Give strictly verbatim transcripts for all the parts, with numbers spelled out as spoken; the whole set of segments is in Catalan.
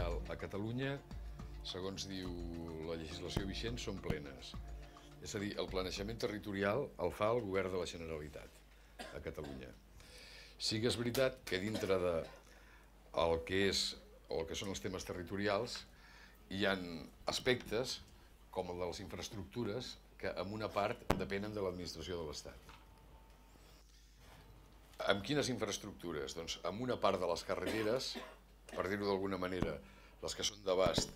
territorial a Catalunya, segons diu la legislació vigent, són plenes. És a dir, el planejament territorial el fa el Govern de la Generalitat a Catalunya. Sí que és veritat que dintre de el que és o el que són els temes territorials hi ha aspectes com el de les infraestructures que en una part depenen de l'administració de l'Estat. Amb quines infraestructures? Doncs amb una part de les carreteres, per dir-ho d'alguna manera, les que són d'abast,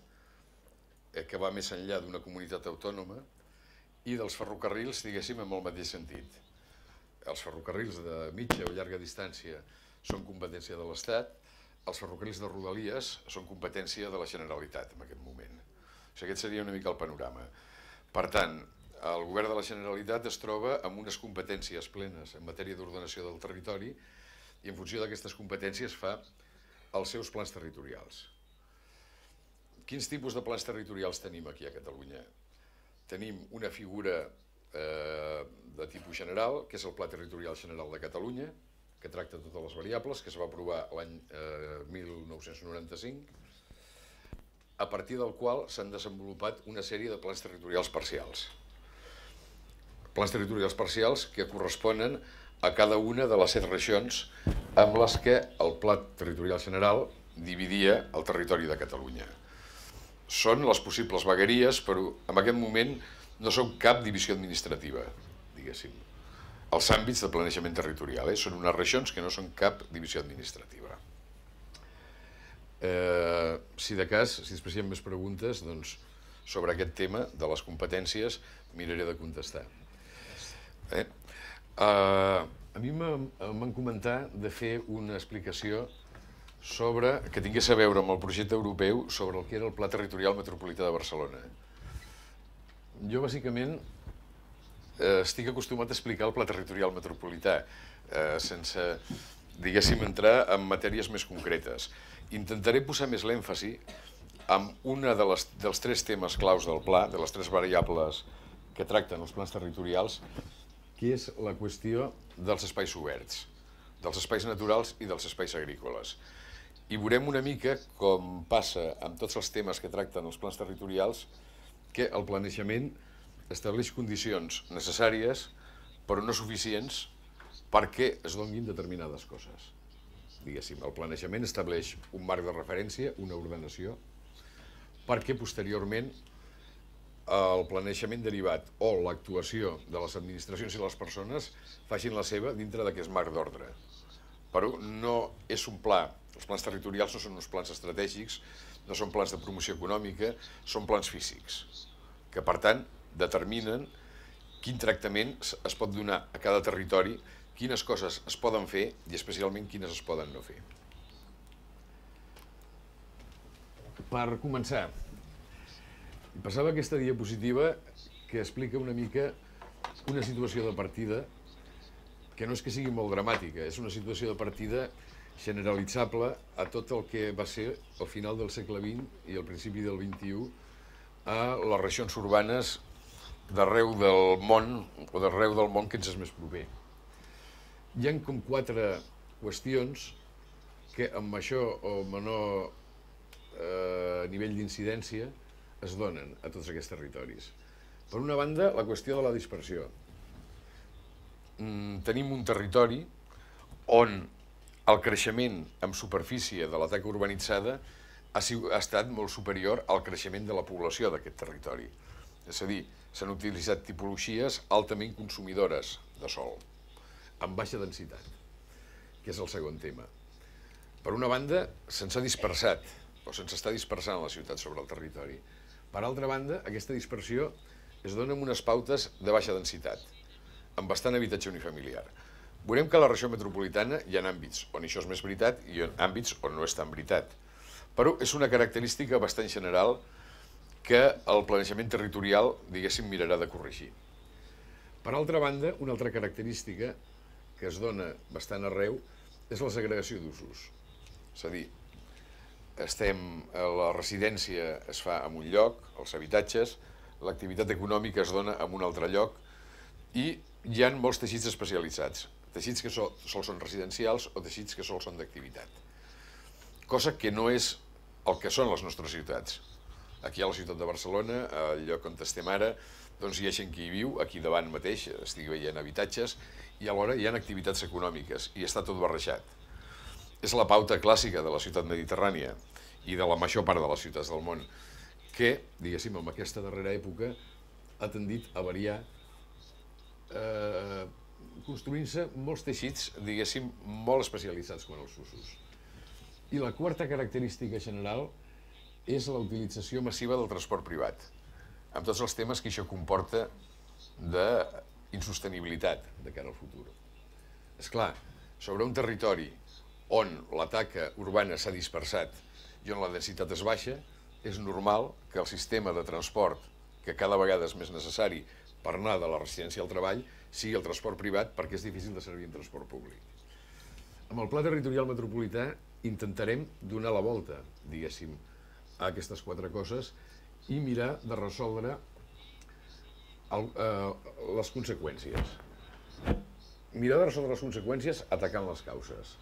que va més enllà d'una comunitat autònoma, i dels ferrocarrils, diguéssim, en el mateix sentit. Els ferrocarrils de mitja o llarga distància són competència de l'Estat, els ferrocarrils de Rodalies són competència de la Generalitat en aquest moment. O sigui, aquest seria una mica el panorama. Per tant, el Govern de la Generalitat es troba amb unes competències plenes en matèria d'ordenació del territori i en funció d'aquestes competències fa els seus plans territorials. Quins tipus de plans territorials tenim aquí a Catalunya? Tenim una figura de tipus general, que és el Pla Territorial General de Catalunya, que tracta totes les variables, que es va aprovar l'any mil nou-cents noranta-cinc, a partir del qual s'han desenvolupat una sèrie de plans territorials parcials. Plans territorials parcials que corresponen a cada una de les set regions amb les que el Pla Territorial General dividia el territori de Catalunya. Són les possibles vegueries, però en aquest moment no són cap divisió administrativa, diguéssim. Els àmbits de planejament territorial són unes regions que no són cap divisió administrativa. Si de cas, si després hi ha més preguntes sobre aquest tema de les competències, miraré de contestar. A mi m'han comentat de fer una explicació sobre que tingués a veure amb el projecte europeu sobre el que era el Pla Territorial Metropolità de Barcelona. Jo, bàsicament, estic acostumat a explicar el Pla Territorial Metropolità sense, diguéssim, entrar en matèries més concretes. Intentaré posar més l'èmfasi en un dels tres temes claus del pla, de les tres variables que tracten els plans territorials, que és la qüestió dels espais oberts, dels espais naturals i dels espais agrícoles. I veurem una mica com passa amb tots els temes que tracten els plans territorials, que el planejament estableix condicions necessàries, però no suficients, perquè es donin determinades coses. Diguéssim, el planejament estableix un marc de referència, una ordenació, perquè posteriorment el planejament derivat o l'actuació de les administracions i les persones facin la seva dintre d'aquest marc d'ordre. Però no és un pla, els plans territorials no són uns plans estratègics, no són plans de promoció econòmica, són plans físics, que per tant determinen quin tractament es pot donar a cada territori, quines coses es poden fer i especialment quines es poden no fer. Per començar, passava aquesta diapositiva que explica una mica una situació de partida que no és que sigui molt dramàtica, és una situació de partida generalitzable a tot el que va ser al final del segle vint i al principi del vint-i-u a les regions urbanes d'arreu del món o d'arreu del món que ens és més proper. Hi ha com quatre qüestions que amb això o menor nivell d'incidència es donen a tots aquests territoris. Per una banda, la qüestió de la dispersió. Tenim un territori on el creixement en superfície de la taca urbanitzada ha estat molt superior al creixement de la població d'aquest territori. És a dir, s'han utilitzat tipologies altament consumidores de sòl, amb baixa densitat, que és el segon tema. Per una banda, se'ns ha dispersat, o se'ns està dispersant la ciutat sobre el territori. Per altra banda, aquesta dispersió es dona amb unes pautes de baixa densitat, amb bastant habitatge unifamiliar. Veurem que a la regió metropolitana hi ha àmbits on això és més veritat i àmbits on no és tan veritat. Però és una característica bastant general que el planejament territorial, diguéssim, mirarà de corregir. Per altra banda, una altra característica que es dona bastant arreu és la segregació d'usos. És a dir, la residència es fa en un lloc, els habitatges, l'activitat econòmica es dona en un altre lloc i hi ha molts teixits especialitzats, teixits que sols són residencials o teixits que sols són d'activitat. Cosa que no és el que són les nostres ciutats. Aquí a la ciutat de Barcelona, al lloc on estem ara, doncs hi ha gent que hi viu, aquí davant mateix, estic veient habitatges, i alhora hi ha activitats econòmiques, i està tot barrejat. És la pauta clàssica de la ciutat mediterrània i de la major part de les ciutats del món, que, diguéssim, en aquesta darrera època ha tendit a variar, eh, construint-se molts teixits, diguéssim, molt especialitzats quant als usos. I la quarta característica general és la utilització massiva del transport privat, amb tots els temes que això comporta d'insostenibilitat de cara al futur. És clar, sobre un territori on la taca urbana s'ha dispersat i on la densitat és baixa, és normal que el sistema de transport, que cada vegada és més necessari per anar de la residència al treball, sigui el transport privat, perquè és difícil de servir en transport públic. Amb el Pla Territorial Metropolità intentarem donar la volta, diguéssim, a aquestes quatre coses i mirar de resoldre el, eh, les conseqüències. Mirar de resoldre les conseqüències atacant les causes.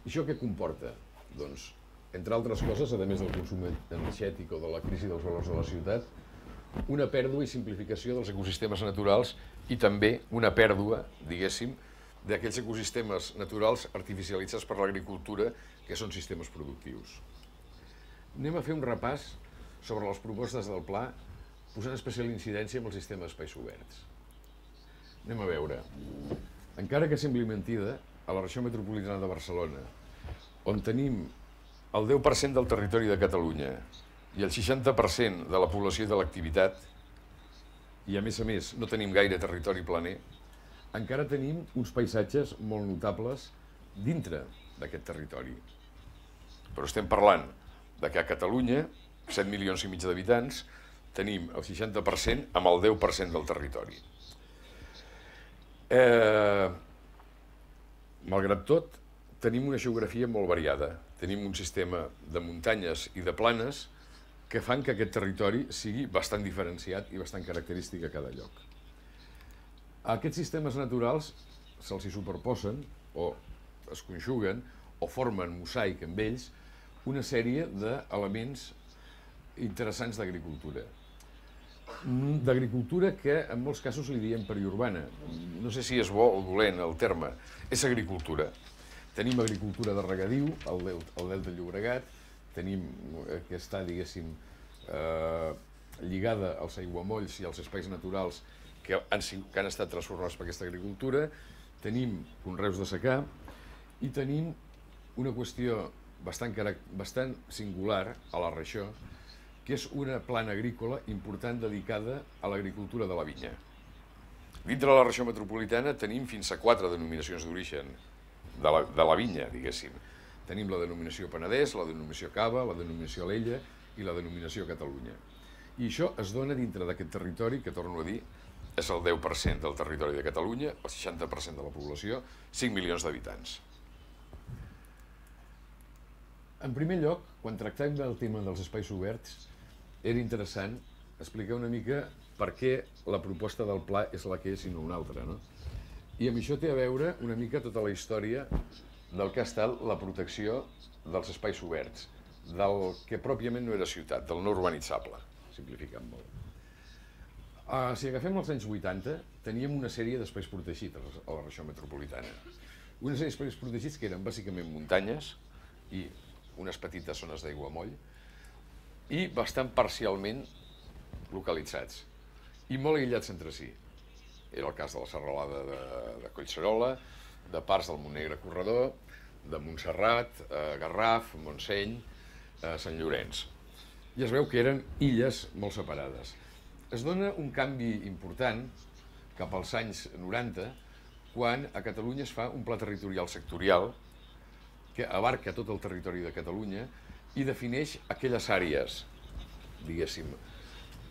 I això què comporta? Doncs, entre altres coses, a més del consum energètic o de la crisi dels valors de la ciutat, una pèrdua i simplificació dels ecosistemes naturals i també una pèrdua, diguéssim, d'aquells ecosistemes naturals artificialitzats per l'agricultura, que són sistemes productius. Anem a fer un repàs sobre les propostes del pla, posant especial incidència en el sistema d'espais oberts. Anem a veure. Encara que sembli mentida, a la regió metropolitana de Barcelona, on tenim el deu per cent del territori de Catalunya i el seixanta per cent de la població i de l'activitat, i a més a més no tenim gaire territori planer, encara tenim uns paisatges molt notables dintre d'aquest territori. Però estem parlant de que a Catalunya, set milions i mig d'habitants, tenim el seixanta per cent amb el deu per cent del territori. Eh, malgrat tot, tenim una geografia molt variada. Tenim un sistema de muntanyes i de planes que fan que aquest territori sigui bastant diferenciat i bastant característic a cada lloc. A aquests sistemes naturals se'ls hi superposen o es conjuguen o formen mosaic amb ells una sèrie d'elements interessants d'agricultura. D'agricultura que en molts casos li diem periurbana. No sé si és bo o dolent el terme. És agricultura. Tenim agricultura de regadiu, al Delta del Llobregat, tenim que està, diguéssim, eh, lligada als aiguamolls i als espais naturals que han, que han estat transformats per aquesta agricultura, tenim conreus de secà i tenim una qüestió bastant, bastant singular a la regió, que és una plana agrícola important dedicada a l'agricultura de la vinya. Dintre de la regió metropolitana tenim fins a quatre denominacions d'origen de la, de la vinya, diguéssim. Tenim la denominació Penedès, la denominació Cava, la denominació Alella i la denominació Catalunya. I això es dona dintre d'aquest territori, que torno a dir, és el deu per cent del territori de Catalunya, el seixanta per cent de la població, cinc milions d'habitants. En primer lloc, quan tractem del tema dels espais oberts, era interessant explicar una mica per què la proposta del pla és la que és i no una altra, no? I amb això té a veure una mica tota la història del que ha estat la protecció dels espais oberts, del que pròpiament no era ciutat, del no urbanitzable, simplificant molt. Uh, si agafem els anys vuitanta, teníem una sèrie d'espais protegits a la regió metropolitana. Una sèrie d'espais protegits que eren bàsicament muntanyes i unes petites zones d'aiguamoll i bastant parcialment localitzats i molt aïllats entre si. Era el cas de la serralada de, de Collserola, de parts del Montnegre Corredor, de Montserrat, eh, Garraf, Montseny, eh, Sant Llorenç. I es veu que eren illes molt separades. Es dona un canvi important cap als anys noranta, quan a Catalunya es fa un pla territorial sectorial que abarca tot el territori de Catalunya i defineix aquelles àrees, diguéssim,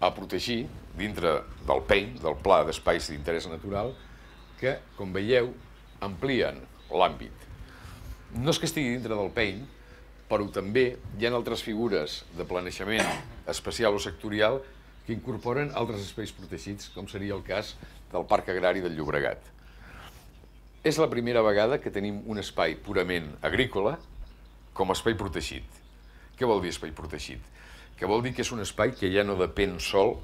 a protegir dintre del P E I, del Pla d'Espais d'Interès Natural, que, com veieu, amplien l'àmbit. No és que estigui dintre del P E I, però també hi ha altres figures de planejament especial o sectorial que incorporen altres espais protegits, com seria el cas del Parc Agrari del Llobregat. És la primera vegada que tenim un espai purament agrícola com a espai protegit. Què vol dir espai protegit? Que vol dir que és un espai que ja no depèn sol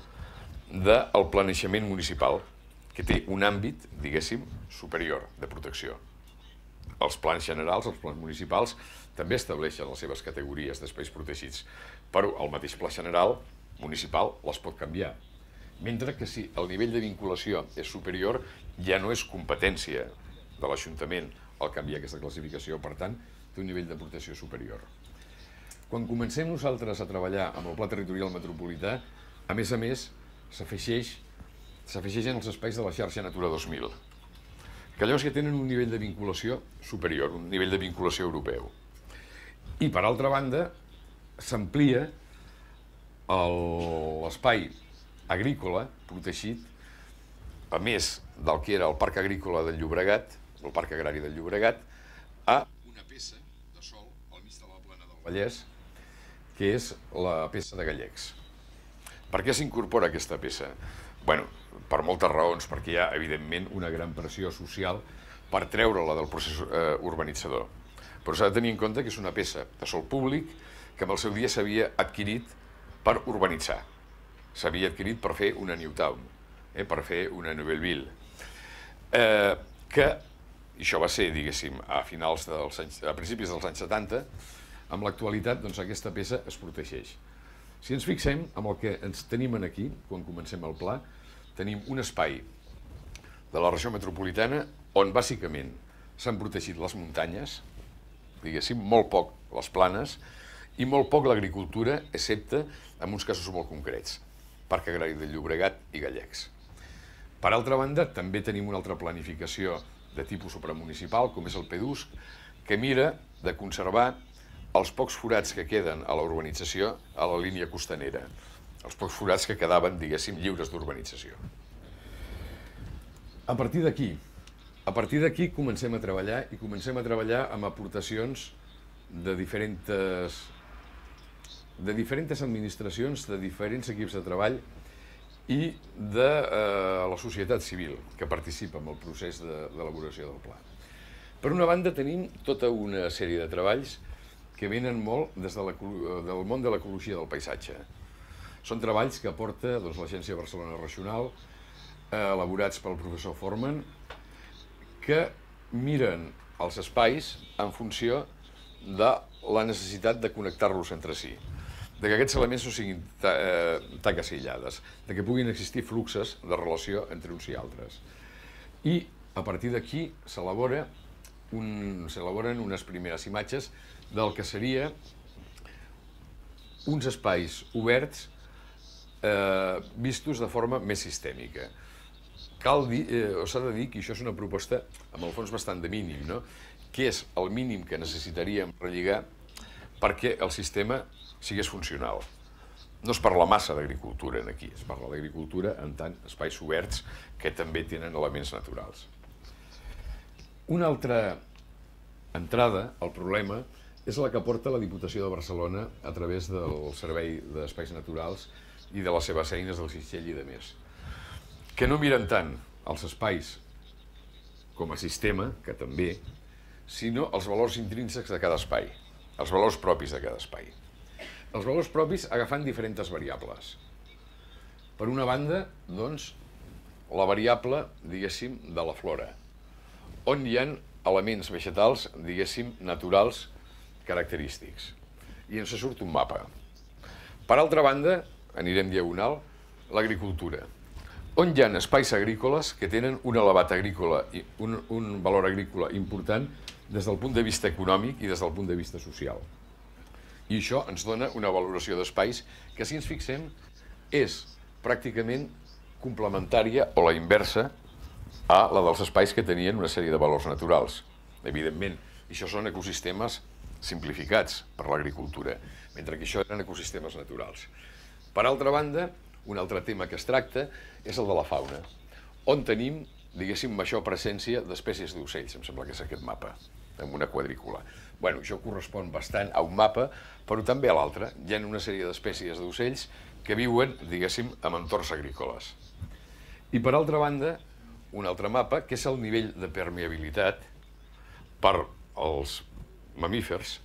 del planejament municipal, que té un àmbit, diguéssim, superior de protecció. Els plans generals, els plans municipals, també estableixen les seves categories d'espais protegits, però el mateix pla general municipal les pot canviar. Mentre que si el nivell de vinculació és superior, ja no és competència de l'Ajuntament el canviar aquesta classificació, per tant, té un nivell de protecció superior. Quan comencem nosaltres a treballar amb el Pla Territorial Metropolità, a més a més, s'afegeixen els espais de la xarxa Natura dos mil, que llavors ja tenen un nivell de vinculació superior, un nivell de vinculació europeu. I, per altra banda, s'amplia l'espai agrícola protegit, a més del que era el Parc Agrícola del Llobregat, el Parc Agrari del Llobregat, a una peça de sòl al mig de la plana del Vallès, que és la peça de Gallecs. Per què s'incorpora aquesta peça? Bé, per moltes raons, perquè hi ha, evidentment, una gran pressió social per treure-la del procés urbanitzador. Però s'ha de tenir en compte que és una peça de sòl públic que en el seu dia s'havia adquirit per urbanitzar. S'havia adquirit per fer una New Town, eh, per fer una Nouvelleville. Eh, que, i això va ser, diguéssim, a, finals dels anys, a principis dels anys setanta, amb l'actualitat, doncs, aquesta peça es protegeix. Si ens fixem en el que ens tenim aquí, quan comencem el pla, tenim un espai de la regió metropolitana on, bàsicament, s'han protegit les muntanyes, diguéssim, molt poc les planes, i molt poc l'agricultura, excepte en uns casos molt concrets, Parc Agrari del Llobregat i Gallecs. Per altra banda, també tenim una altra planificació de tipus supramunicipal, com és el PEDUSC, que mira de conservar els pocs forats que queden a la urbanització a la línia costanera, els pocs forats que quedaven, diguéssim, lliures d'urbanització. A partir d'aquí, a partir d'aquí comencem a treballar i comencem a treballar amb aportacions de diferents de diferents administracions, de diferents equips de treball i de la societat civil que participa en el procés d'elaboració del pla. Per una banda, tenim tota una sèrie de treballs que venen molt des del món de l'ecologia del paisatge. Són treballs que aporta l'Agència Barcelona Regional, elaborats pel professor Forman, que miren els espais en funció de la necessitat de connectar-los entre si, de que aquests elements no siguin taques aïllades, de que puguin existir fluxes de relació entre uns i altres. I a partir d'aquí s'elaboren unes primeres imatges del que seria uns espais oberts vistos de forma més sistèmica. Cal dir, o s'ha de dir que això és una proposta amb el fons bastant de mínim, no? Que és el mínim que necessitaríem relligar perquè el sistema sigués funcional. No es parla massa d'agricultura aquí, es parla d'agricultura en tant espais oberts que també tenen elements naturals. Una altra entrada al problema és la que aporta la Diputació de Barcelona a través del Servei d'Espais Naturals i de les seves eines del Sixell i de més, que no miren tant els espais com a sistema, que també, sinó els valors intrínsecs de cada espai, els valors propis de cada espai. Els valors propis agafant diferents variables. Per una banda, doncs, la variable, diguéssim, de la flora, on hi ha elements vegetals, diguéssim, naturals, característics. I ens surt un mapa. Per altra banda, anirem diagonal, l'agricultura, on hi ha espais agrícoles que tenen un elevat agrícola, un, un valor agrícola important des del punt de vista econòmic i des del punt de vista social. I això ens dona una valoració d'espais que, si ens fixem, és pràcticament complementària o la inversa a la dels espais que tenien una sèrie de valors naturals. Evidentment, això són ecosistemes simplificats per l'agricultura, mentre que això eren ecosistemes naturals. Per altra banda, un altre tema que es tracta és el de la fauna, on tenim, diguéssim, major presència d'espècies d'ocells, em sembla que és aquest mapa, amb una quadrícula. Bé, això correspon bastant a un mapa, però també a l'altre. Hi ha una sèrie d'espècies d'ocells que viuen, diguéssim, en entorns agrícoles. I per altra banda, un altre mapa, que és el nivell de permeabilitat per als mamífers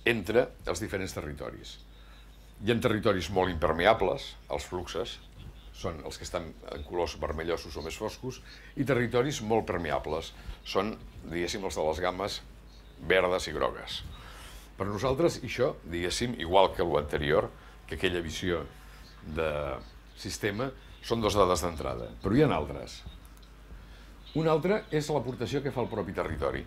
entre els diferents territoris. Hi ha territoris molt impermeables, els fluxes, són els que estan en colors vermellosos o més foscos, i territoris molt permeables, són, diguéssim, els de les gammes verdes i grogues. Per nosaltres, això, diguéssim, igual que l'anterior, que aquella visió de sistema, són dues dades d'entrada, però hi ha altres. Una altra és l'aportació que fa el propi territori.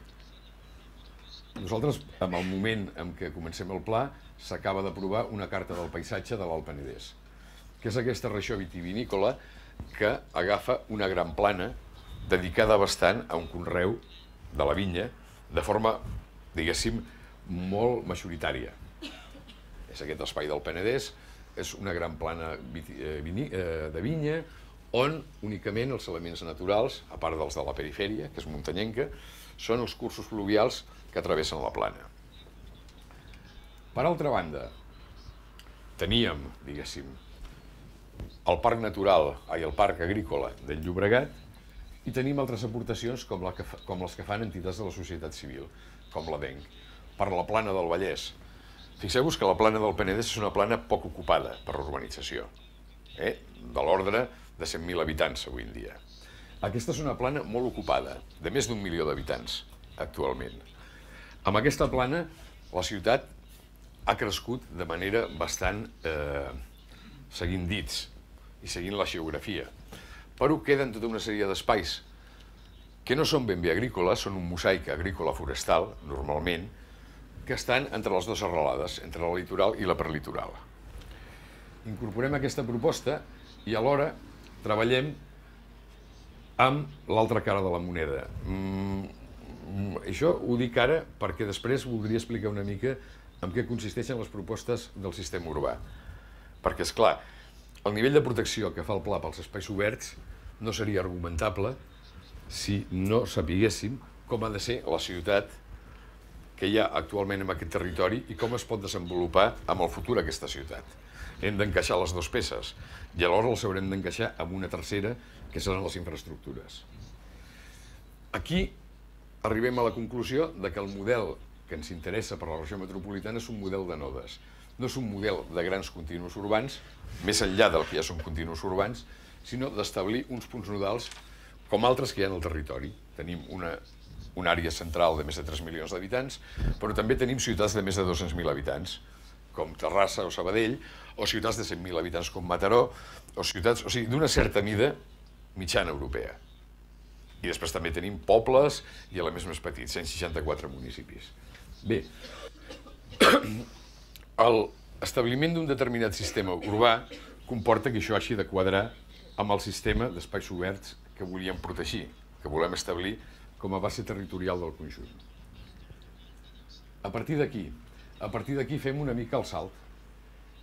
Nosaltres, en el moment en què comencem el pla, s'acaba d'aprovar una carta del paisatge de l'Alt Penedès, que és aquesta regió vitivinícola que agafa una gran plana dedicada bastant a un conreu de la vinya de forma, diguéssim, molt majoritària. És aquest espai del Penedès, és una gran plana de vinya on únicament els elements naturals, a part dels de la perifèria, que és muntanyenca, són els cursos fluvials que travessen la plana. Per altra banda, teníem, diguéssim, el Parc Natural, ai, el Parc Agrícola del Llobregat, i tenim altres aportacions com, la que fa, com les que fan entitats de la societat civil, com l'A D E N C, per la plana del Vallès. Fixeu-vos que la plana del Penedès és una plana poc ocupada per l'urbanització, eh? de l'ordre de cent mil habitants avui en dia. Aquesta és una plana molt ocupada, de més d'un milió d'habitants actualment. Amb aquesta plana, la ciutat ha crescut de manera bastant eh, seguint dits i seguint la geografia. Però queden tota una sèrie d'espais que no són ben bé agrícoles, són un mosaic agrícola-forestal, normalment, que estan entre les dues serralades, entre la litoral i la prelitoral. Incorporem aquesta proposta i alhora treballem amb l'altra cara de la moneda. Mm, això ho dic ara perquè després voldria explicar una mica en què consisteixen les propostes del sistema urbà. Perquè, és clar, el nivell de protecció que fa el pla pels espais oberts no seria argumentable si no sapiguéssim com ha de ser la ciutat que hi ha actualment en aquest territori i com es pot desenvolupar amb el futur aquesta ciutat. Hem d'encaixar les dues peces i alhora les haurem d'encaixar amb una tercera, que seran les infraestructures. Aquí arribem a la conclusió de que el model que ens interessa per a la regió metropolitana és un model de nodes. No és un model de grans continus urbans, més enllà del que ja són continus urbans, sinó d'establir uns punts nodals com altres que hi ha en el territori. Tenim una, una àrea central de més de tres milions d'habitants, però també tenim ciutats de més de dos-cents mil habitants, com Terrassa o Sabadell, o ciutats de cent mil habitants com Mataró, o ciutats, o sigui, d'una certa mida mitjana europea. I després també tenim pobles i elements més petits, cent seixanta-quatre municipis. Bé, l'establiment d'un determinat sistema urbà comporta que això hagi de quadrar amb el sistema d'espais oberts que volíem protegir, que volem establir com a base territorial del conjunt. A partir d'aquí, a partir d'aquí fem una mica el salt.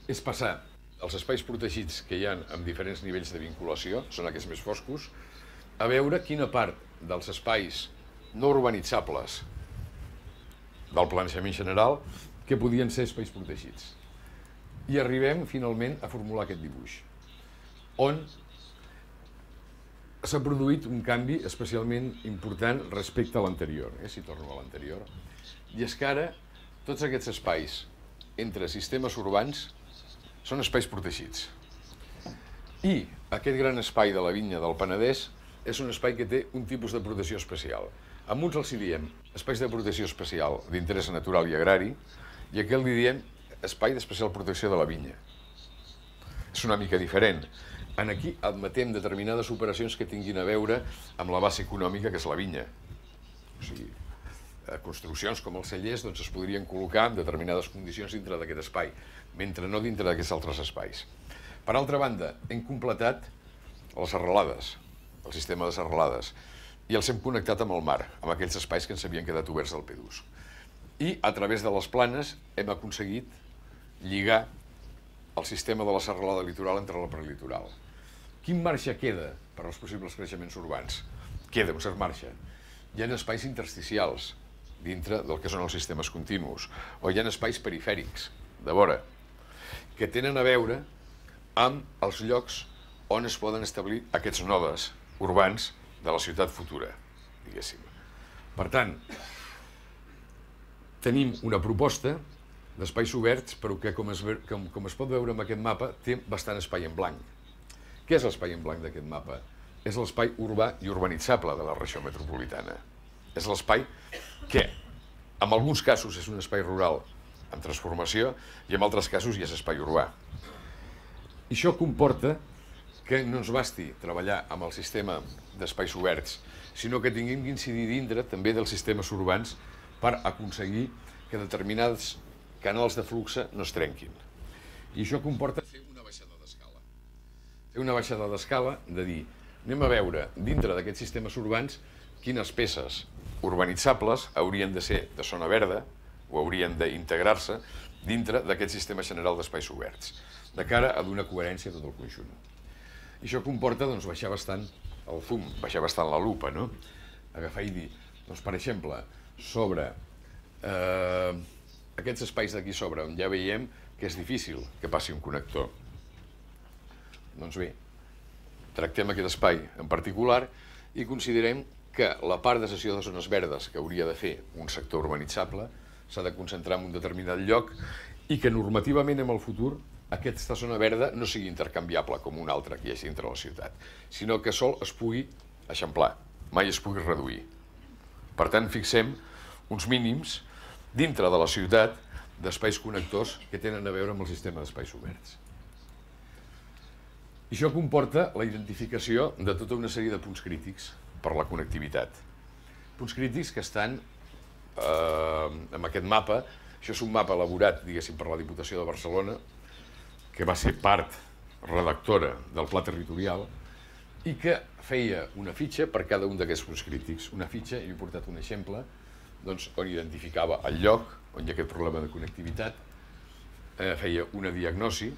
És passar els espais protegits que hi ha amb diferents nivells de vinculació, són aquests més foscos, a veure quina part dels espais no urbanitzables del planejament general que podien ser espais protegits. I arribem, finalment, a formular aquest dibuix, on s'ha produït un canvi especialment important respecte a l'anterior, eh, si torno a l'anterior, i és que ara tots aquests espais entre sistemes urbans són espais protegits. I aquest gran espai de la vinya del Penedès és un espai que té un tipus de protecció especial. A uns els hi diem espais de protecció especial d'interès natural i agrari, i a aquest li diem espai d'especial protecció de la vinya. És una mica diferent. En aquí admetem determinades operacions que tinguin a veure amb la base econòmica, que és la vinya. O sigui, construccions com els cellers doncs, es podrien col·locar en determinades condicions dintre d'aquest espai, mentre no dintre d'aquests altres espais. Per altra banda, hem completat les serralades, el sistema de serralades, i els hem connectat amb el mar, amb aquells espais que ens havien quedat oberts del P dos. I a través de les planes hem aconseguit lligar el sistema de la serralada litoral entre la prelitoral. Quin marge queda per als possibles creixements urbans? Queda un cert marge. Hi ha espais intersticials dintre del que són els sistemes continus, o hi ha espais perifèrics, de vora, que tenen a veure amb els llocs on es poden establir aquests nodes urbans de la ciutat futura, diguéssim. Per tant, tenim una proposta d'espais oberts, però que, com es, com, com es pot veure en aquest mapa, té bastant espai en blanc. Què és l'espai en blanc d'aquest mapa? És l'espai urbà i urbanitzable de la regió metropolitana. És l'espai que, en alguns casos, és un espai rural en transformació i en altres casos ja és espai urbà. I això comporta que no ens basti treballar amb el sistema d'espais oberts, sinó que tinguem d'incidir dintre també dels sistemes urbans per aconseguir que determinats canals de flux no es trenquin. I això comporta fer una baixada d'escala. Fer una baixada d'escala de dir, anem a veure dintre d'aquests sistemes urbans quines peces urbanitzables haurien de ser de zona verda o haurien d'integrar-se dintre d'aquest sistema general d'espais oberts, de cara a donar coherència a tot el conjunt. I això comporta doncs, baixar bastant el zoom, baixar bastant la lupa, no? Agafar i dir, doncs, per exemple, sobre eh, aquests espais d'aquí sobre, on ja veiem que és difícil que passi un connector. Doncs bé, tractem aquest espai en particular i considerem que la part de cessió de zones verdes que hauria de fer un sector urbanitzable s'ha de concentrar en un determinat lloc i que normativament en el futur aquesta zona verda no sigui intercanviable com una altra que hi hagi dintre la ciutat, sinó que sol es pugui eixamplar, mai es pugui reduir. Per tant, fixem uns mínims dintre de la ciutat d'espais connectors que tenen a veure amb el sistema d'espais oberts. I això comporta la identificació de tota una sèrie de punts crítics per la connectivitat. Punts crítics que estan eh, en aquest mapa. Això és un mapa elaborat, diguéssim, per la Diputació de Barcelona, que va ser part redactora del Pla Territorial i que feia una fitxa per cada un d'aquests punts crítics. Una fitxa, i he portat un exemple, doncs, on identificava el lloc on hi ha aquest problema de connectivitat, eh, feia una diagnosi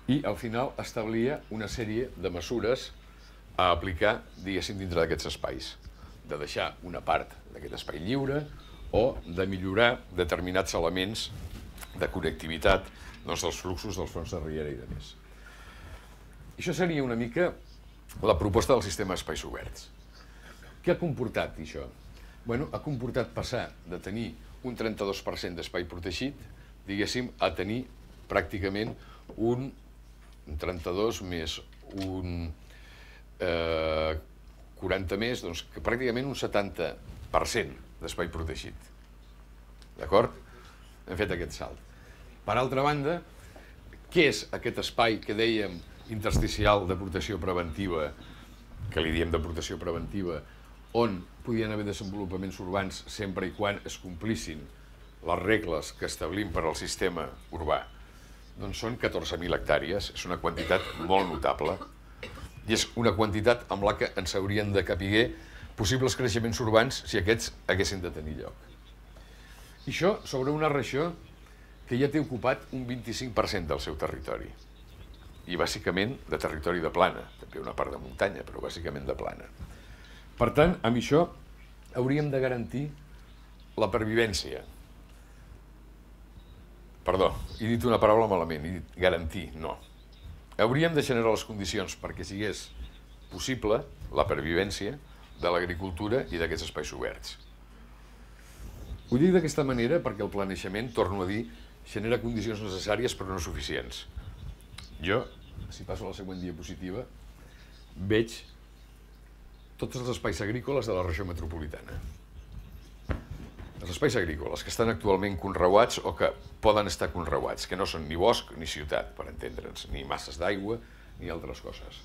i al final establia una sèrie de mesures a aplicar, diguéssim, dintre d'aquests espais. De deixar una part d'aquest espai lliure o de millorar determinats elements de connectivitat doncs, dels fluxos dels fronts de riera i de més. Això seria una mica la proposta del sistema d'espais oberts. Què ha comportat això? Bueno, ha comportat passar de tenir un trenta-dos per cent d'espai protegit, diguéssim, a tenir pràcticament un trenta-dos més un eh, quaranta més, doncs que pràcticament un setanta per cent d'espai protegit. D'acord? Hem fet aquest salt. Per altra banda, què és aquest espai que dèiem intersticial de protecció preventiva, que li diem de protecció preventiva, on podien haver desenvolupaments urbans sempre i quan es complissin les regles que establim per al sistema urbà? Doncs són catorze mil hectàrees, és una quantitat molt notable i és una quantitat amb la que ens haurien de capiguer possibles creixements urbans si aquests haguessin de tenir lloc. I això sobre una regió que ja té ocupat un vint-i-cinc per cent del seu territori i bàsicament de territori de plana, també una part de muntanya, però bàsicament de plana. Per tant, amb això hauríem de garantir la pervivència. Perdó, he dit una paraula malament, he dit garantir, no. Hauríem de generar les condicions perquè sigués possible la pervivència de l'agricultura i d'aquests espais oberts. Ho dic d'aquesta manera perquè el planejament, torno a dir, genera condicions necessàries però no suficients. Jo, si passo a la següent diapositiva, veig tots els espais agrícoles de la regió metropolitana. Els espais agrícoles que estan actualment conreuats o que poden estar conreuats, que no són ni bosc ni ciutat, per entendre'ns, ni masses d'aigua ni altres coses.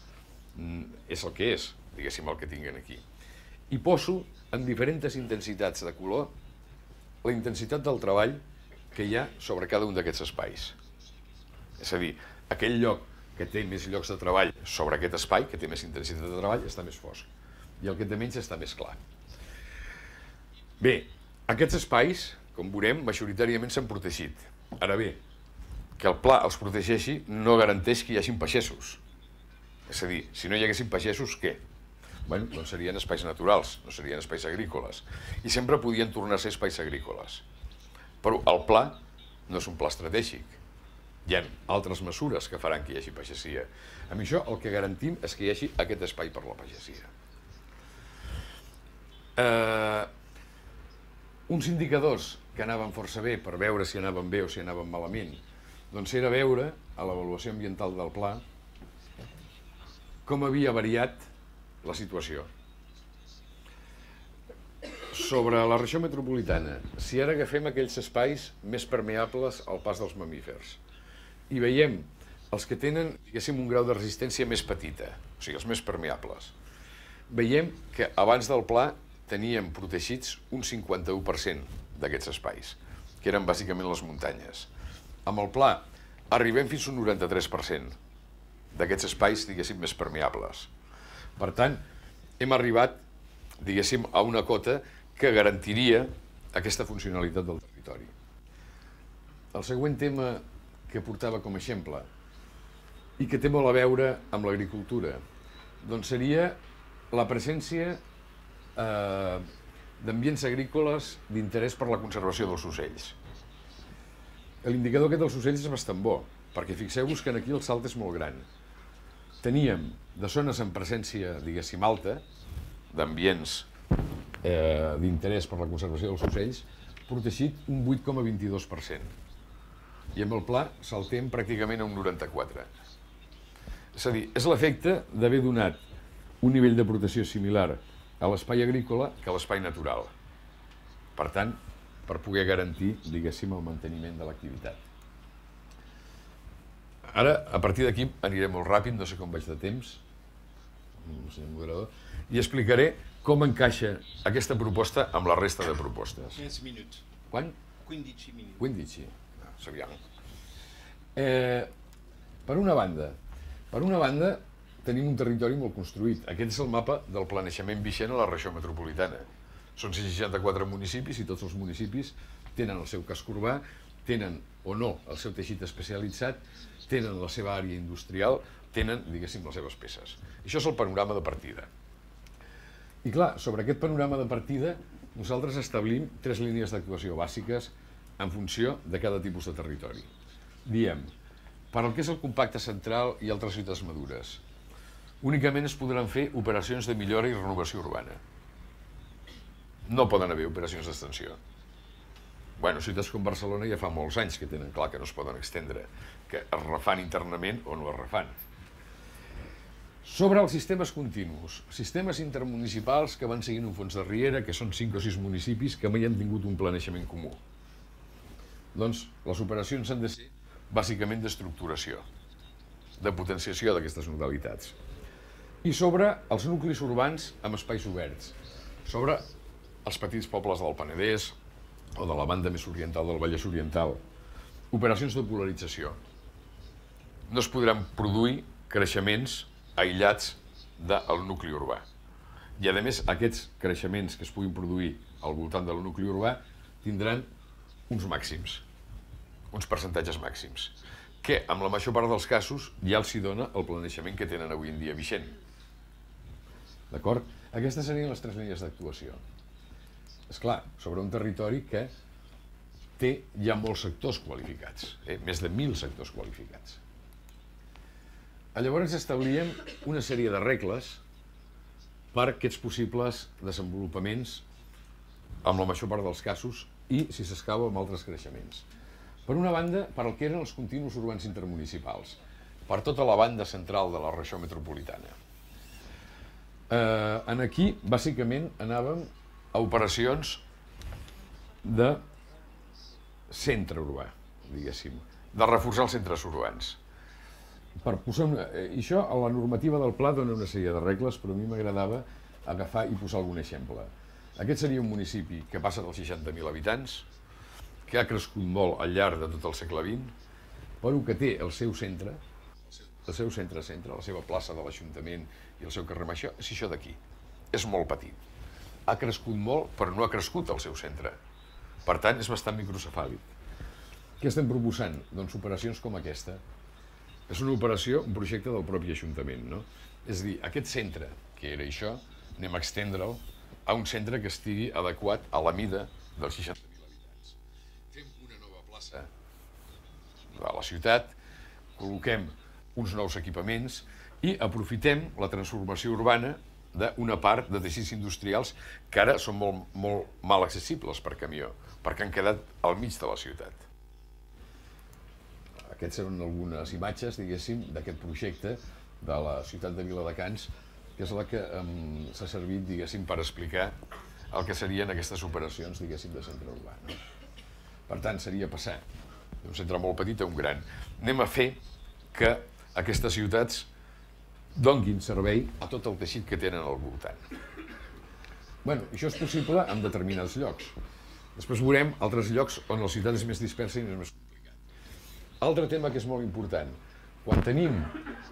És el que és, diguéssim, el que tinguen aquí. I poso en diferents intensitats de color la intensitat del treball que hi ha sobre cada un d'aquests espais. És a dir, aquell lloc que té més llocs de treball sobre aquest espai, que té més intensitat de treball, està més fosc. I el que té menys està més clar. Bé, aquests espais, com veurem, majoritàriament s'han protegit. Ara bé, que el pla els protegeixi no garanteix que hi hagin pagès. És a dir, si no hi haguessin pagès, què? Bé, doncs serien espais naturals, no serien espais agrícoles. I sempre podien tornar a ser espais agrícoles. Però el pla no és un pla estratègic. Hi ha altres mesures que faran que hi hagi pagesia. Amb això el que garantim és que hi hagi aquest espai per la pagesia. Eh, uns indicadors que anaven força bé per veure si anaven bé o si anaven malament, doncs era veure a l'avaluació ambiental del pla com havia variat la situació. Sobre la regió metropolitana, si ara agafem aquells espais més permeables al pas dels mamífers i veiem els que tenen, diguéssim, un grau de resistència més petita, o sigui, els més permeables, veiem que abans del pla teníem protegits un cinquanta-u per cent d'aquests espais, que eren bàsicament les muntanyes. Amb el pla arribem fins a un noranta-tres per cent d'aquests espais, diguéssim, més permeables. Per tant, hem arribat, diguéssim, a una cota que garantiria aquesta funcionalitat del territori. El següent tema que portava com a exemple i que té molt a veure amb l'agricultura, doncs seria la presència eh, d'ambients agrícoles d'interès per la conservació dels ocells. L'indicador aquest dels ocells és bastant bo, perquè fixeu-vos que aquí el salt és molt gran. Teníem de zones amb presència, diguéssim, alta, d'ambients eh, d'interès per la conservació dels ocells, protegit un vuit coma vint-i-dos per cent. I amb el pla saltem pràcticament a un noranta-quatre per cent. És a dir, és l'efecte d'haver donat un nivell de protecció similar a l'espai agrícola que a l'espai natural. Per tant, per poder garantir, diguéssim, el manteniment de l'activitat. Ara, a partir d'aquí, aniré molt ràpid, no sé com vaig de temps, senyor moderador, i explicaré com encaixa aquesta proposta amb la resta de propostes. quinze minuts. Quan? quindici minuts. quindici. No, sabíem. Eh, per una banda, per una banda, tenim un territori molt construït. Aquest és el mapa del planejament vigent a la regió metropolitana. Són cent seixanta-quatre municipis i tots els municipis tenen el seu casc urbà, tenen o no el seu teixit especialitzat, tenen la seva àrea industrial, tenen, diguéssim, les seves peces. Això és el panorama de partida. I clar, sobre aquest panorama de partida, nosaltres establim tres línies d'actuació bàsiques en funció de cada tipus de territori. Diem, per al que és el compacte central i altres ciutats madures, únicament es podran fer operacions de millora i renovació urbana. No poden haver operacions d'extensió. Bueno, ciutats com Barcelona ja fa molts anys que tenen clar que no es poden extendre, que es refan internament o no es refan. Sobre els sistemes continus, sistemes intermunicipals que van seguint un fons de riera, que són cinc o sis municipis que mai han tingut un planejament comú. Doncs les operacions han de ser bàsicament d'estructuració, de potenciació d'aquestes modalitats. I sobre els nuclis urbans amb espais oberts, sobre els petits pobles del Penedès o de la banda més oriental del Vallès Oriental, operacions de polarització. No es podran produir creixements aïllats del nucli urbà. I, a més, aquests creixements que es puguin produir al voltant del nucli urbà tindran uns màxims, uns percentatges màxims, que, amb la major part dels casos, ja els hi dona el planejament que tenen avui en dia vigent. D'acord? Aquestes serien les tres línies d'actuació. És clar, sobre un territori que té ja molts sectors qualificats, eh? més de mil sectors qualificats. Llavors establíem una sèrie de regles per aquests possibles desenvolupaments, amb la major part dels casos, i, si s'escau, amb altres creixements. Per una banda, per al que eren els continus urbans intermunicipals, per tota la banda central de la regió metropolitana. Eh, en aquí, bàsicament, anàvem a operacions de centre urbà, diguéssim, de reforçar els centres urbans. Per posar una... I això, a la normativa del pla dona una sèrie de regles, però a mi m'agradava agafar i posar algun exemple. Aquest seria un municipi que passa dels seixanta mil habitants, que ha crescut molt al llarg de tot el segle vint, però que té el seu centre, el seu centre-centre, la seva plaça de l'Ajuntament i el seu carrer Major, és això d'aquí. És molt petit. Ha crescut molt, però no ha crescut el seu centre. Per tant, és bastant microcefàlic. Què estem proposant? Doncs operacions com aquesta. És una operació, un projecte del propi Ajuntament, no? És a dir, aquest centre, que era això, anem a extendre'l a un centre que estigui adequat a la mida dels seixanta mil habitants. Fem una nova plaça de la ciutat, col·loquem uns nous equipaments i aprofitem la transformació urbana d'una part de teixits industrials que ara són molt, molt mal accessibles per camió, perquè han quedat al mig de la ciutat. Aquestes són algunes imatges, diguéssim, d'aquest projecte de la ciutat de Viladecans, que és la que um, s'ha servit, diguéssim, per explicar el que serien aquestes operacions, diguéssim, de centre urbà. No? Per tant, seria passar d'un centre molt petit a un gran. Anem a fer que aquestes ciutats donguin servei a tot el teixit que tenen al voltant. Bueno, això és possible en determinats llocs. Després veurem altres llocs on la ciutat és més dispersa i és més complicat. Altre tema que és molt important. Quan tenim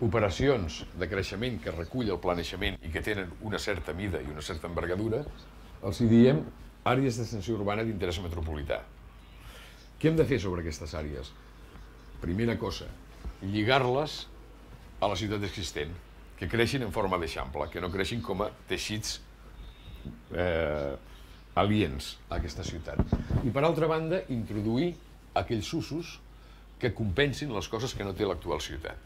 operacions de creixement que recull el planejament i que tenen una certa mida i una certa envergadura, els hi diem àrees d'extensió urbana d'interès metropolità. Què hem de fer sobre aquestes àrees? Primera cosa, lligar-les a la ciutat existent, que creixin en forma d'eixample, que no creixin com a teixits eh, aliens a aquesta ciutat. I per altra banda, introduir aquells usos que compensin les coses que no té l'actual ciutat.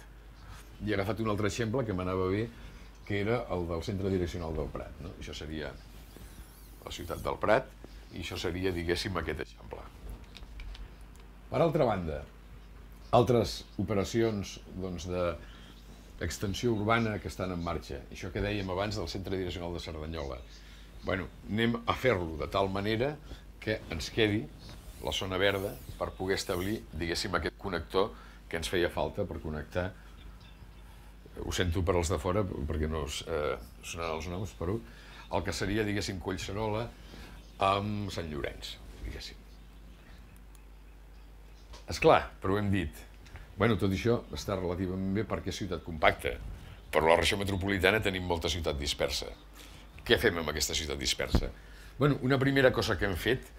I he agafat un altre exemple que m'anava bé, que era el del centre direccional del Prat. No? Això seria la ciutat del Prat i això seria, diguéssim, aquest exemple. Per altra banda, altres operacions doncs, d'extensió urbana que estan en marxa. Això que dèiem abans del centre direccional de Cerdanyola. Bueno, anem a fer-lo de tal manera que ens quedi la zona verda per poder establir, diguéssim, aquest connector que ens feia falta per connectar. Ho sento per als de fora, perquè no us eh, sonaran els noms, però el que seria, diguéssim, Collserola amb Sant Llorenç, diguéssim. Esclar, però ho hem dit. Bueno, tot això està relativament bé perquè és ciutat compacta, però a la regió metropolitana tenim molta ciutat dispersa. Què fem amb aquesta ciutat dispersa? Bueno, una primera cosa que hem fet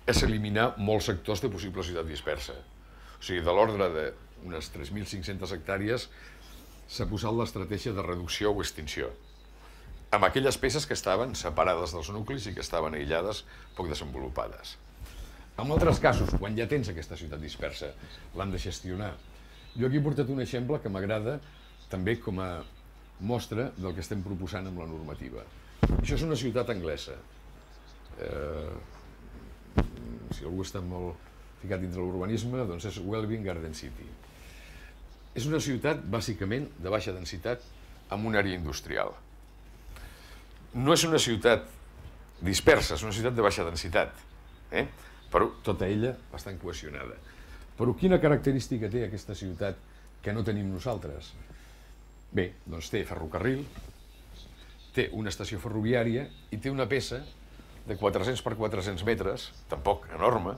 és eliminar molts sectors de possible ciutat dispersa. O sigui, de l'ordre d'unes tres mil cinc-centes hectàrees s'ha posat l'estratègia de reducció o extinció, amb aquelles peces que estaven separades dels nuclis i que estaven aïllades, poc desenvolupades. En altres casos, quan ja tens aquesta ciutat dispersa, l'han de gestionar. Jo aquí he portat un exemple que m'agrada també com a mostra del que estem proposant amb la normativa. Això és una ciutat anglesa. Eh, si algú està molt ficat dintre l'urbanisme, doncs és Welwyn Garden City. És una ciutat, bàsicament, de baixa densitat amb una àrea industrial. No és una ciutat dispersa, és una ciutat de baixa densitat, eh? però tota ella bastant cohesionada. Però quina característica té aquesta ciutat que no tenim nosaltres? Bé, doncs té ferrocarril, té una estació ferroviària i té una peça de quatre-cents per quatre-cents metres, tampoc enorme,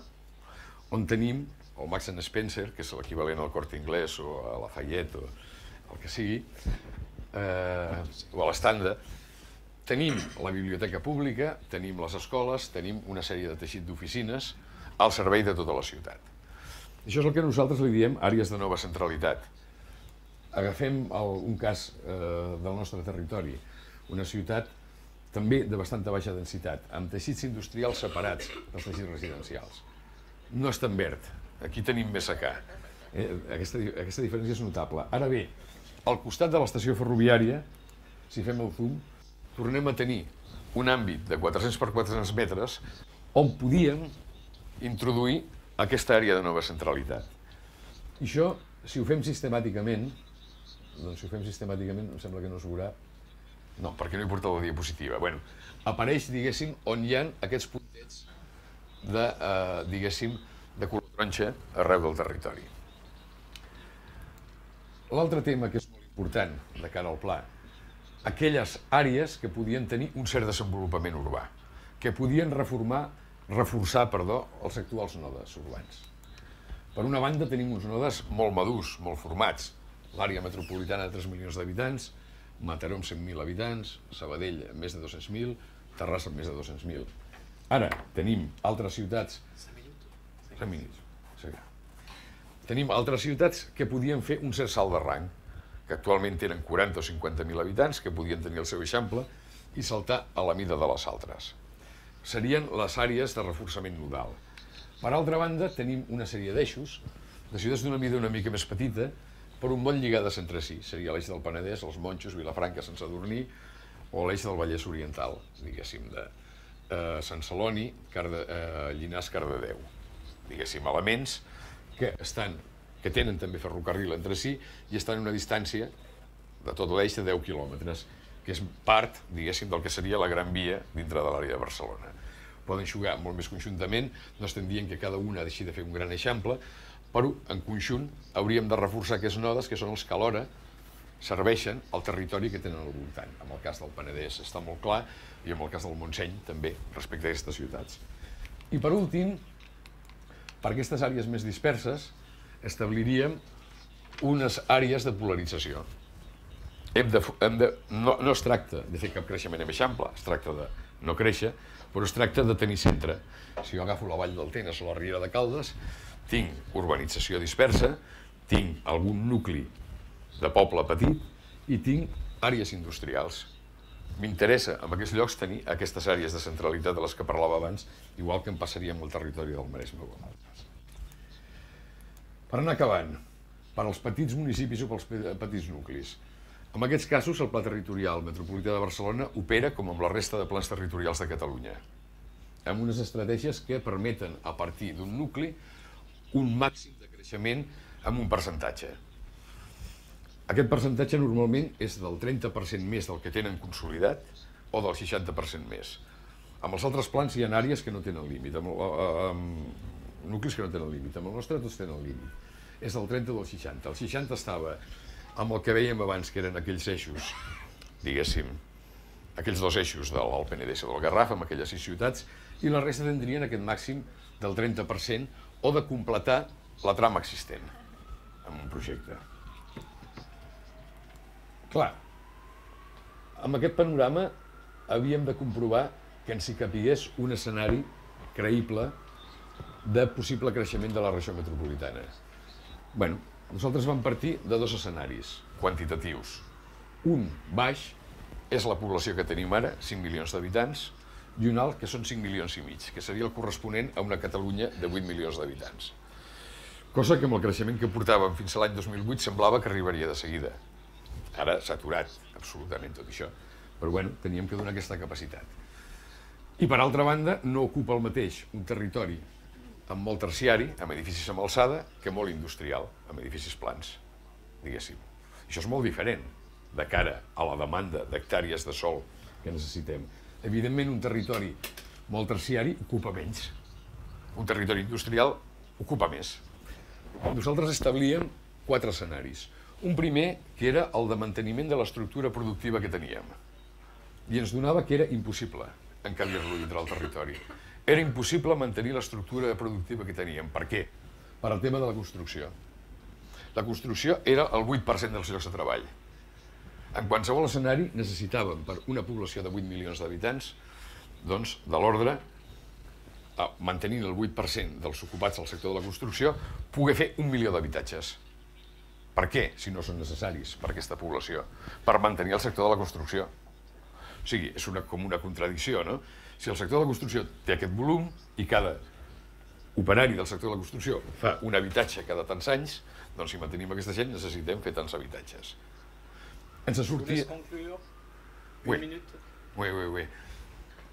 on tenim el Marks and Spencer, que és l'equivalent al Corte Inglés o a Lafayette o el que sigui, eh, o a l'Estanda. Tenim la biblioteca pública, tenim les escoles, tenim una sèrie de teixit d'oficines al servei de tota la ciutat. Això és el que nosaltres li diem àrees de nova centralitat. Agafem el, un cas eh, del nostre territori, una ciutat també de bastanta baixa densitat, amb teixits industrials separats dels teixits residencials. No és tan verd, aquí tenim més secà. Eh, aquesta, aquesta diferència és notable. Ara bé, al costat de l'estació ferroviària, si fem el zoom, tornem a tenir un àmbit de quatre-cents per quatre-cents metres on podíem introduir aquesta àrea de nova centralitat. I això, si ho fem sistemàticament, doncs si ho fem sistemàticament em sembla que no es veurà. No, perquè no he portat la diapositiva. Bueno, apareix, diguéssim, on hi ha aquests puntets de, eh, diguéssim, de color taronja arreu del territori. L'altre tema que és molt important de cara al pla, aquelles àrees que podien tenir un cert desenvolupament urbà, que podien reformar, reforçar perdó, els actuals nodes urbans. Per una banda tenim uns nodes molt madurs, molt formats. L'àrea metropolitana de tres milions d'habitants, Mataró amb cent mil habitants, Sabadell amb més de dos-cents mil, Terrassa amb més de dos-cents mil. Ara tenim altres ciutats... Tenim altres ciutats que podien fer un cert salt de rang, que actualment tenen quaranta o cinquanta mil habitants, que podien tenir el seu eixample i saltar a la mida de les altres. Serien les àrees de reforçament nodal. Per altra banda, tenim una sèrie d'eixos, de ciutats d'una mida una mica més petita, però molt lligades entre si. Seria l'eix del Penedès, els Monjos, Vilafranca, Sant Sadurní, o l'eix del Vallès Oriental, diguéssim, de eh, Sant Celoni, Carde, eh, Llinars, Cardedeu. Diguéssim, elements que estan, que tenen també ferrocarril entre si i estan a una distància de tot l'eix de deu quilòmetres, que és part, diguéssim, del que seria la Gran Via dintre de l'àrea de Barcelona. Poden jugar molt més conjuntament, no estem dient que cada una deixi de fer un gran eixample, però en conjunt hauríem de reforçar aquests nodes, que són els que alhora serveixen al territori que tenen al voltant. En el cas del Penedès està molt clar, i en el cas del Montseny també, respecte a aquestes ciutats. I per últim, per aquestes àrees més disperses, establiríem unes àrees de polarització. Hem de, hem de, no, no es tracta de fer cap creixement en eixample, es tracta de no créixer, però es tracta de tenir centre. Si jo agafo la Vall del Tenes o la Riera de Caldes, tinc urbanització dispersa, tinc algun nucli de poble petit i tinc àrees industrials. M'interessa en aquests llocs tenir aquestes àrees de centralitat de les que parlava abans, igual que em passaria amb el territori del Maresme. Per anar acabant, per als petits municipis o pels petits nuclis, en aquests casos el Pla Territorial Metropolità de Barcelona opera com amb la resta de plans territorials de Catalunya, amb unes estratègies que permeten, a partir d'un nucli, un màxim de creixement amb un percentatge. Aquest percentatge normalment és del trenta per cent més del que tenen consolidat o del seixanta per cent més. Amb els altres plans hi ha àrees que no tenen límit, amb, amb nuclis que no tenen límit. Amb el nostre tots tenen límit. És del trenta o del seixanta. El seixanta estava amb el que vèiem abans, que eren aquells eixos, diguéssim, aquells dos eixos de l'Alt Penedès o del Garraf, amb aquelles sis ciutats, i la resta tindrien aquest màxim del trenta per cent o de completar la trama existent en un projecte. Clar, amb aquest panorama havíem de comprovar que ens hi capigués un escenari creïble de possible creixement de la regió metropolitana. Bé, nosaltres vam partir de dos escenaris quantitatius. Un baix és la població que tenim ara, cinc milions d'habitants, i un alt, que són cinc milions i mig, que seria el corresponent a una Catalunya de vuit milions d'habitants. Cosa que amb el creixement que portàvem fins a l'any dos mil vuit semblava que arribaria de seguida. Ara s'ha aturat absolutament tot això, però bueno, teníem que donar aquesta capacitat. I per altra banda, no ocupa el mateix un territori amb molt terciari, amb edificis amb alçada, que molt industrial, amb edificis plans, diguéssim. Això és molt diferent de cara a la demanda d'hectàrees de sòl que necessitem. Evidentment, un territori molt terciari ocupa menys. Un territori industrial ocupa més. Nosaltres establíem quatre escenaris. Un primer, que era el de manteniment de l'estructura productiva que teníem. I ens donava que era impossible encabir-lo dintre del territori. Era impossible mantenir l'estructura productiva que teníem. Per què? Per al tema de la construcció. La construcció era el vuit per cent dels llocs de treball. En qualsevol escenari necessitàvem, per una població de vuit milions d'habitants, doncs, de l'ordre, mantenint el vuit per cent dels ocupats al sector de la construcció, poder fer un milió d'habitatges. Per què, si no són necessaris per aquesta població? Per mantenir el sector de la construcció. O sigui, és una, com una contradicció, no? Si el sector de la construcció té aquest volum i cada operari del sector de la construcció fa un habitatge cada tants anys, doncs si mantenim aquesta gent necessitem fer tants habitatges. Ens sortia... Voleu concluir? Oui. Un minut? Oui, oui, oui.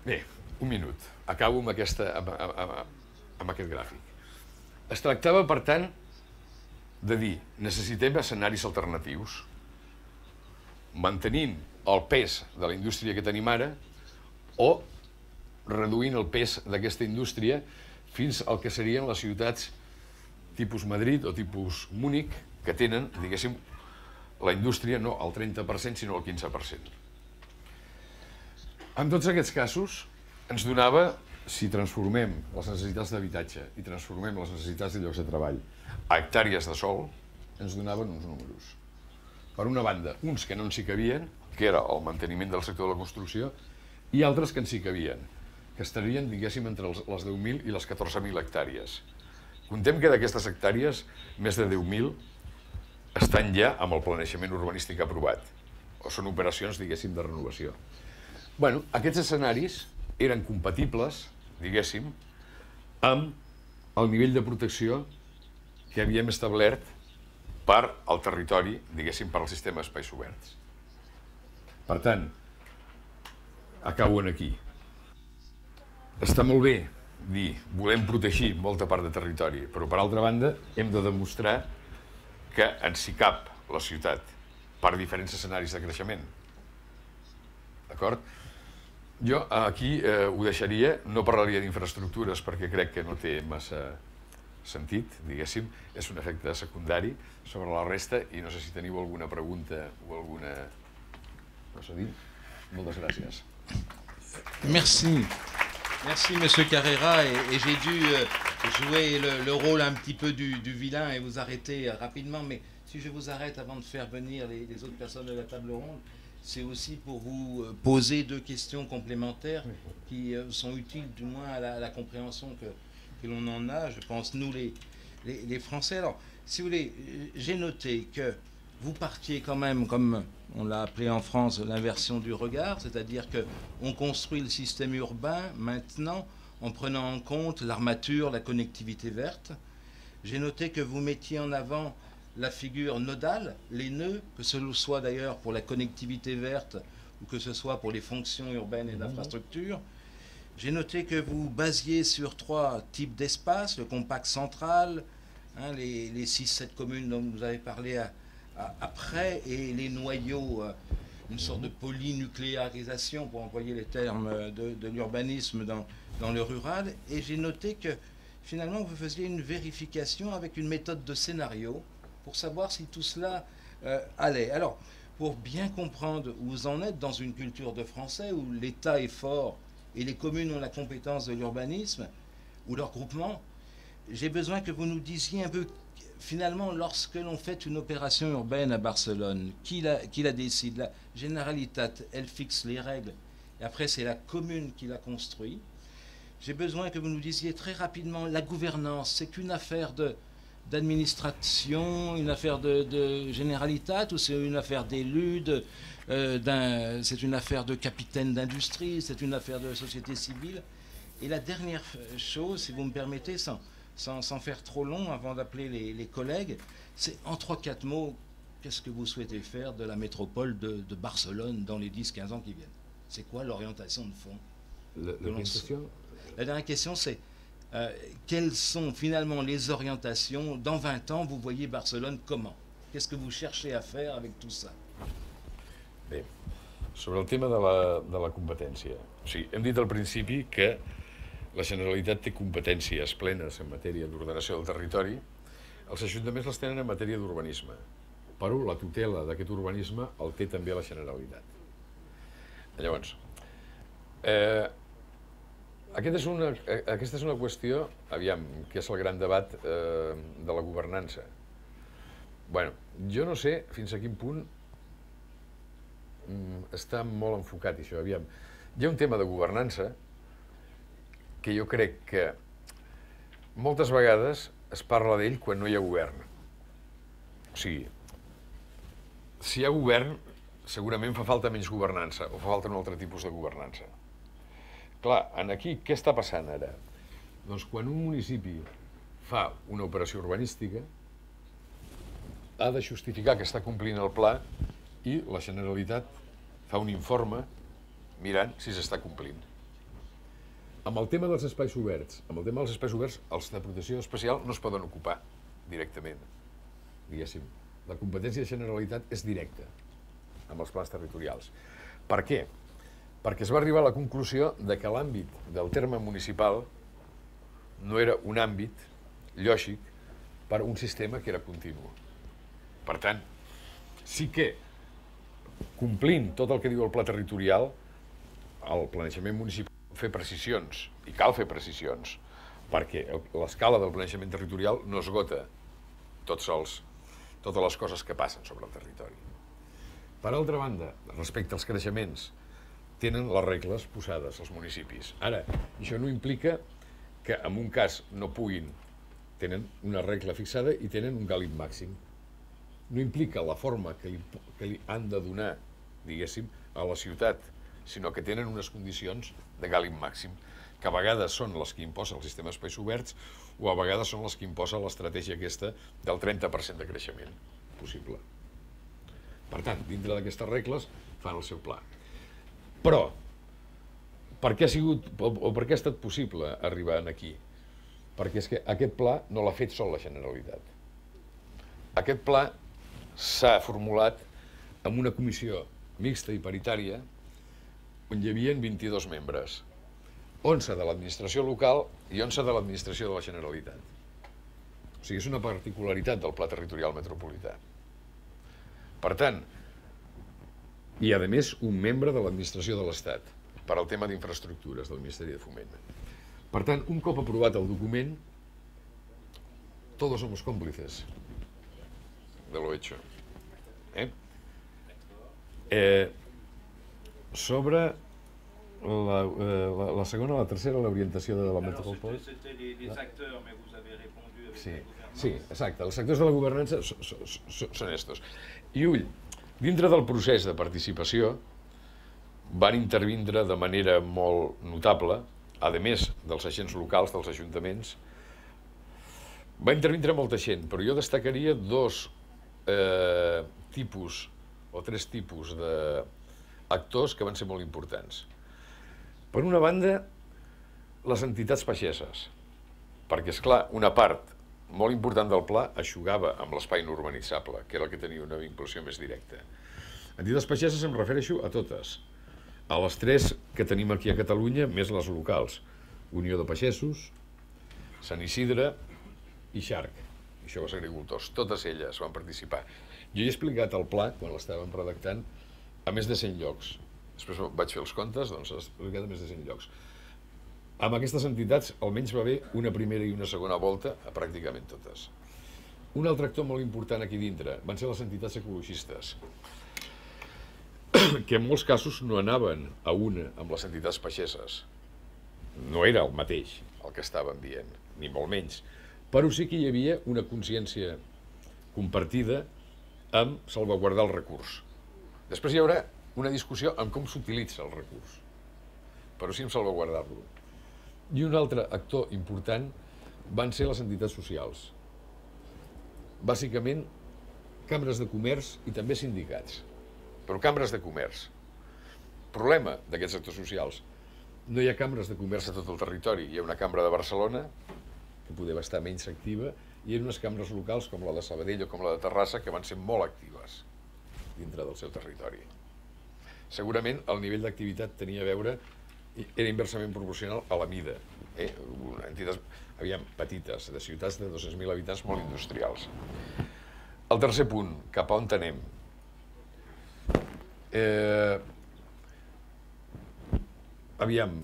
Bé, un minut. Acabo amb, aquesta, amb, amb, amb aquest gràfic. Es tractava, per tant, de dir, necessitem escenaris alternatius, mantenint el pes de la indústria que tenim ara o reduint el pes d'aquesta indústria fins al que serien les ciutats tipus Madrid o tipus Múnich, que tenen, diguéssim, la indústria no al trenta per cent, sinó al quinze per cent. En tots aquests casos, ens donava, si transformem les necessitats d'habitatge i transformem les necessitats de llocs de treball a hectàrees de sòl, ens donaven uns números. Per una banda, uns que no ens hi cabien, que era el manteniment del sector de la construcció, i altres que ens hi cabien, que estarien, diguéssim, entre les deu mil i les catorze mil hectàrees. Contem que d'aquestes hectàrees, més de deu mil estan ja amb el planejament urbanístic aprovat, o són operacions, diguéssim, de renovació. Bueno, aquests escenaris eren compatibles, diguéssim, amb el nivell de protecció que havíem establert per al territori, diguéssim, per al sistema d'espais oberts. Per tant, acaben aquí. Està molt bé dir, volem protegir molta part de territori, però per altra banda hem de demostrar que ens hi cap la ciutat per diferents escenaris de creixement. D'acord? Jo aquí eh, ho deixaria, no parlaria d'infraestructures perquè crec que no té massa sentit, diguéssim, és un efecte secundari sobre la resta i no sé si teniu alguna pregunta o alguna cosa a dir. Moltes gràcies. Merci. Merci, Monsieur Carrera, et, et j'ai dû euh, jouer le, le rôle un petit peu du, du vilain et vous arrêter euh, rapidement, mais si je vous arrête avant de faire venir les, les autres personnes de la table ronde, c'est aussi pour vous euh, poser deux questions complémentaires qui euh, sont utiles du moins à la, à la compréhension que, que l'on en a, je pense, nous les, les, les Français. Alors, si vous voulez, j'ai noté que vous partiez quand même, comme on l'a appelé en France, l'inversion du regard, c'est-à-dire qu'on construit le système urbain maintenant en prenant en compte l'armature, la connectivité verte. J'ai noté que vous mettiez en avant la figure nodale, les nœuds, que ce soit d'ailleurs pour la connectivité verte ou que ce soit pour les fonctions urbaines et d'infrastructures. J'ai noté que vous basiez sur trois types d'espaces, le compact central, hein, les, les six sept communes dont vous avez parlé à, à, après, et les noyaux, euh, une sorte de polynucléarisation, pour employer les termes de, de l'urbanisme dans, dans le rural. Et j'ai noté que finalement vous faisiez une vérification avec une méthode de scénario pour savoir si tout cela euh, allait. Alors, pour bien comprendre où vous en êtes dans une culture de français où l'État est fort et les communes ont la compétence de l'urbanisme ou leur groupement, j'ai besoin que vous nous disiez un peu, finalement, lorsque l'on fait une opération urbaine à Barcelone, qui la, qui la décide? La Generalitat, elle fixe les règles, et après c'est la commune qui la construit. J'ai besoin que vous nous disiez très rapidement, la gouvernance, c'est qu'une affaire de d'administration, une affaire de, de Generalitat, ou c'est une affaire d'élus, euh, c'est une affaire de capitaine d'industrie, c'est une affaire de société civile. Et la dernière chose, si vous me permettez, sans, sans, sans faire trop long avant d'appeler les, les collègues, c'est en trois quatre mots, qu'est-ce que vous souhaitez faire de la métropole de, de Barcelone dans les dix quinze ans qui viennent? C'est quoi l'orientation de fond? Le, le question La dernière question, c'est Euh, quelles sont finalement les orientations? Dans vingt ans, vous voyez Barcelone comment? Qu'est-ce que vous cherchez à faire avec tout ça? Bé, sobre el tema de la, de la competència. O sigui, hem dit al principi que la Generalitat té competències plenes en matèria d'ordenació del territori, els ajuntaments les tenen en matèria d'urbanisme, però la tutela d'aquest urbanisme el té també la Generalitat. Llavors, eh, Aquest és una, aquesta és una qüestió, aviam, que és el gran debat eh, de la governança. Bueno, jo no sé fins a quin punt mm, està molt enfocat això, aviam. Hi ha un tema de governança que jo crec que moltes vegades es parla d'ell quan no hi ha govern. O sigui, si hi ha govern, segurament fa falta menys governança o fa falta un altre tipus de governança. Clar, aquí què està passant ara? Doncs quan un municipi fa una operació urbanística ha de justificar que està complint el pla i la Generalitat fa un informe mirant si s'està complint. Amb el tema dels espais oberts, amb el tema dels espais oberts, els de protecció especial no es poden ocupar directament, diguéssim. La competència de Generalitat és directa amb els plans territorials. Per què? Perquè es va arribar a la conclusió de que l'àmbit del terme municipal no era un àmbit lògic per a un sistema que era continu. Per tant, sí que complint tot el que diu el pla territorial, el planejament municipal fer precisions, i cal fer precisions, perquè l'escala del planejament territorial no esgota tots els, totes les coses que passen sobre el territori. Per altra banda, respecte als creixements, tenen les regles posades als municipis. Ara, això no implica que en un cas no puguin, tenen una regla fixada i tenen un gàlib màxim. No implica la forma que li, que li han de donar, diguéssim, a la ciutat, sinó que tenen unes condicions de gàlib màxim, que a vegades són les que imposa el sistema d'espais oberts o a vegades són les que imposa l'estratègia aquesta del trenta per cent de creixement possible. Per tant, dintre d'aquestes regles fan el seu pla. Però Per què ha sigut, o per què ha estat possible arribar aquí? Perquè és que aquest pla no l'ha fet sol la Generalitat. Aquest pla s'ha formulat amb una comissió mixta i paritària on hi havia vint-i-dos membres, onze de l'administració local i onze de l'administració de la Generalitat. O sigui, és una particularitat del Pla Territorial Metropolità. Per tant, i a més un membre de l'administració de l'Estat per al tema d'infraestructures del Ministeri de Foment. Per tant, un cop aprovat el document, todos somos cómplices de lo hecho. Eh? Eh, sobre la, eh, la, la segona, la tercera, l'orientació de la metropol... Sí, sí, exacte. Els sectors de la governança són estos. I ull, dintre del procés de participació van intervindre de manera molt notable, a més dels agents locals, dels ajuntaments, va intervindre molta gent, però jo destacaria dos eh, tipus o tres tipus d'actors que van ser molt importants. Per una banda, les entitats pageses, perquè, esclar, una part molt important del pla eixugava amb l'espai no urbanitzable, que era el que tenia una vinculació més directa. Entitats pageses em refereixo a totes, a les tres que tenim aquí a Catalunya, més les locals. Unió de Pagesos, Sant Isidre i Xarc, això els agricultors. Totes elles van participar. Jo he explicat el pla, quan l'estàvem redactant, a més de cent llocs. Després vaig fer els comptes, doncs l'he explicat a més de cent llocs. Amb aquestes entitats almenys va haver una primera i una segona volta a pràcticament totes. Un altre actor molt important aquí dintre van ser les entitats ecologistes, que en molts casos no anaven a una amb les entitats pageses. No era el mateix el que estaven dient, ni molt menys. Però sí que hi havia una consciència compartida amb salvaguardar el recurs. Després hi haurà una discussió en com s'utilitza el recurs, però sí en salvaguardar-lo. I un altre actor important van ser les entitats socials. Bàsicament, cambres de comerç i també sindicats. Però cambres de comerç. Problema d'aquests actors socials. No hi ha cambres de comerç a tot el territori. Hi ha una cambra de Barcelona, que podia estar menys activa, i hi ha unes cambres locals com la de Sabadell o com la de Terrassa que van ser molt actives dintre del seu territori. Segurament el nivell d'activitat tenia a veure, era inversament proporcional a la mida. Eh? Entitats, aviam, petites, de ciutats de dos-cents mil habitants molt industrials. El tercer punt, cap a on anem? Eh, aviam,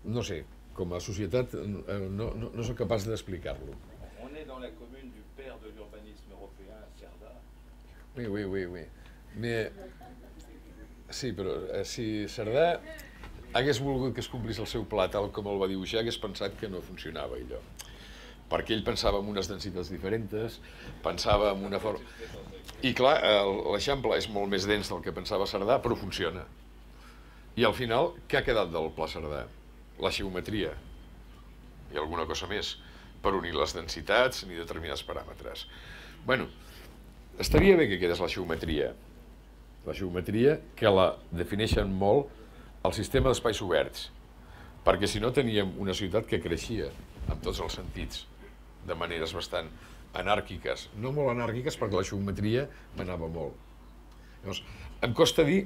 no sé, com a societat no, no, no soc capaç d'explicar-lo. On est dans la commune du père de l'urbanisme européen, Cerdà. Oui, oui, oui, oui. Mais, sí, però eh, si Cerdà hagués volgut que es complís el seu pla tal com el va dibuixar, hagués pensat que no funcionava allò. Perquè ell pensava en unes densitats diferents, pensava en una forma... I clar, l'Eixample és molt més dens del que pensava Cerdà, però funciona. I al final, què ha quedat del Pla Cerdà? La geometria i alguna cosa més, per unir les densitats ni determinats paràmetres. Bueno, estaria bé que quedés la geometria. La geometria que la defineixen molt el sistema d'espais oberts, perquè si no teníem una ciutat que creixia en tots els sentits, de maneres bastant anàrquiques, no molt anàrquiques perquè la geometria m'anava molt. Llavors, em costa dir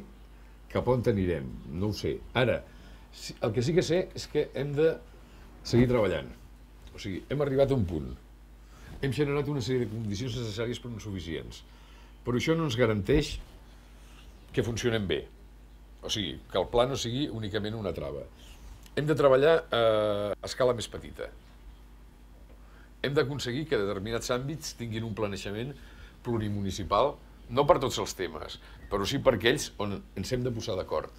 cap on anirem, no ho sé. Ara, el que sí que sé és que hem de seguir treballant. O sigui, hem arribat a un punt. Hem generat una sèrie de condicions necessàries però no suficients. Però això no ens garanteix que funcionem bé. O sigui, que el pla no sigui únicament una trava. Hem de treballar a escala més petita. Hem d'aconseguir que determinats àmbits tinguin un planejament plurimunicipal, no per tots els temes, però sí per aquells on ens hem de posar d'acord.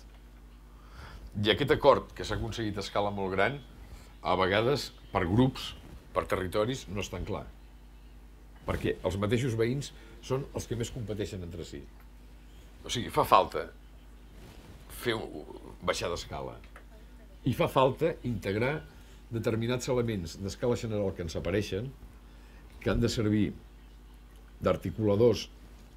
I aquest acord que s'ha aconseguit a escala molt gran, a vegades per grups, per territoris, no és tan clar. Perquè els mateixos veïns són els que més competeixen entre si. O sigui, fa falta fer baixar d'escala. I fa falta integrar determinats elements d'escala general que ens apareixen, que han de servir d'articuladors,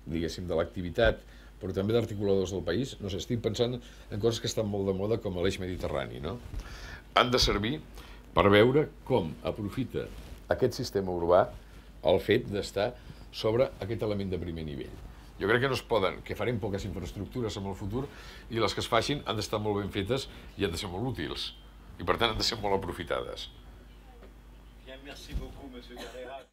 diguéssim, de l'activitat, però també d'articuladors del país, no sé, estic pensant en coses que estan molt de moda com l'eix mediterrani, no? Han de servir per veure com aprofita aquest sistema urbà el fet d'estar sobre aquest element de primer nivell. Jo crec que no es poden, que farem poques infraestructures en el futur i les que es facin han d'estar molt ben fetes i han de ser molt útils i per tant han de ser molt aprofitades. Bien, merci beaucoup, monsieur Carrera.